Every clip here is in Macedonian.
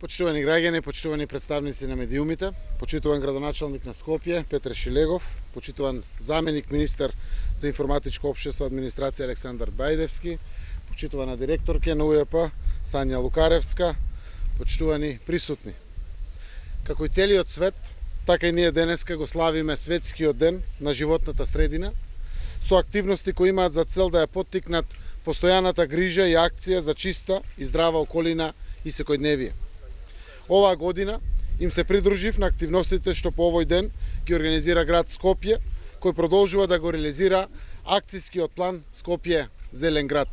Почитувани граѓани, почитувани представници на медиумите, почитуван градоначалник на Скопје Петре Шилегов, почитуван заменик министар за информатичко општество администрација Александар Бајдевски, почитувана директорке на УЈП Сања Лукаревска, почитувани присутни. Како и целиот свет, така и ние денеска го славиме Светскиот ден на животната средина, со активности кои имаат за цел да ја поттикнат постојаната грижа и акција за чиста и здрава околина и секојдневие. Оваа година им се придружив на активностите што по овој ден ги организира град Скопје, кој продолжува да го реализира акцијскиот план Скопје Зелен град.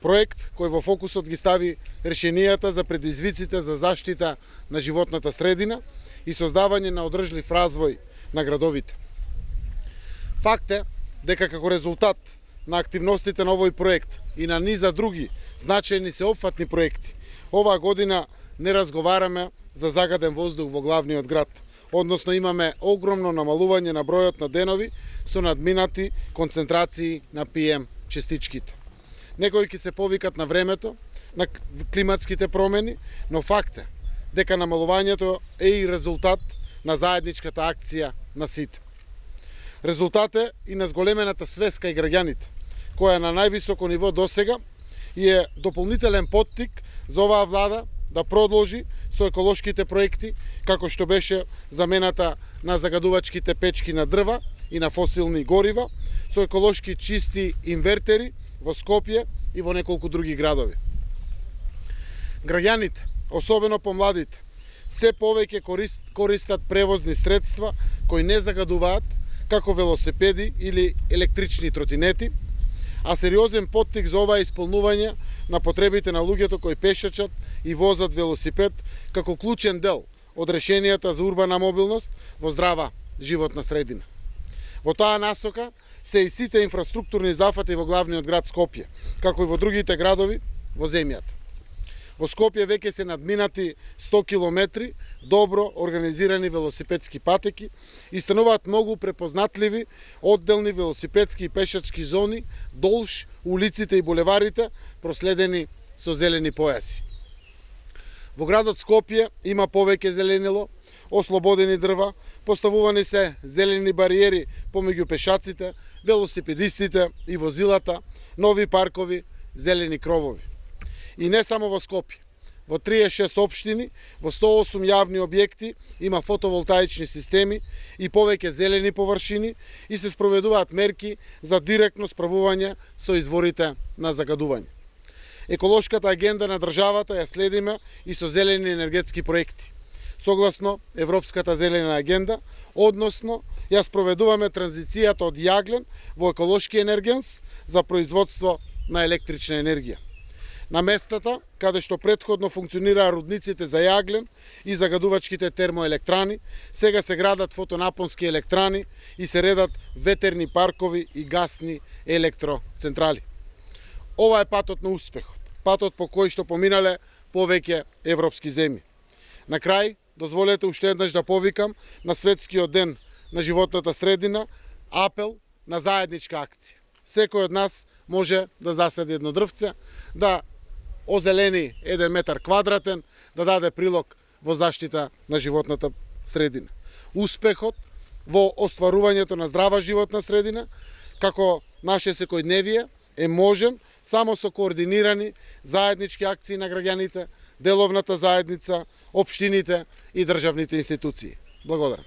Проект кој во фокусот ги стави решенијата за предизвиците за заштита на животната средина и создавање на одржлив развој на градовите. Факт е дека како резултат на активностите на овој проект и на низа други значајни сеопфатни проекти, оваа година не разговараме за загаден воздух во главниот град, односно имаме огромно намалување на бројот на денови со надминати концентрации на PM честичките. Некои ќе се повикат на времето, на климатските промени, но факт е дека намалувањето е и резултат на заедничката акција на сите. Резултат е и на зголемената свест кај граѓаните, која е на највисоко ниво досега и е дополнителен поттик за оваа влада да продолжи со еколошките проекти, како што беше замената на загадувачките печки на дрва и на фосилни горива, со еколошки чисти инвертери во Скопје и во неколку други градови. Граѓаните, особено помладите, се повеќе користат превозни средства кои не загадуваат, како велосипеди или електрични тротинети, а сериозен поттик за ова исполнување на потребите на луѓето кои пешачат и возат велосипед како клучен дел од решенијата за урбана мобилност во здрава животна средина. Во таа насока се и сите инфраструктурни зафати во главниот град Скопје, како и во другите градови во земјата. Во Скопје веќе се надминати 100 километри добро организирани велосипедски патеки и стануваат многу препознатливи одделни велосипедски и пешачки зони долж улиците и булеварите проследени со зелени појаси. Во градот Скопје има повеќе зеленило, ослободени дрва, поставувани се зелени бариери помеѓу пешаците, велосипедистите и возилата, нови паркови, зелени кровови. И не само во Скопје. Во 36 општини, во 108 јавни објекти има фотоволтаични системи и повеќе зелени површини и се спроведуваат мерки за директно справување со изворите на загадување. Еколошката агенда на државата ја следиме и со зелени енергетски проекти. Согласно Европската зелена агенда, односно ја спроведуваме транзицијата од јаглен во еколошки енергенс за производство на електрична енергија. На местата каде што претходно функционираа рудниците за јаглен и загадувачките термоелектрани, сега се градат фотонапонски електрани и се редат ветерни паркови и гасни електроцентрали. Ова е патот на успехот, патот по кој што поминале повеќе европски земји. На крај, дозволете уште еднаш да повикам на Светскиот ден на животната средина апел на заедничка акција. Секој од нас може да засади едно дрвце, да озелени 1 метар квадратен, да даде прилог во заштита на животната средина. Успехот во остварувањето на здрава животна средина, како наше секојдневие, е можен само со координирани заеднички акции на граѓаните, деловната заедница, општините и државните институции. Благодарам.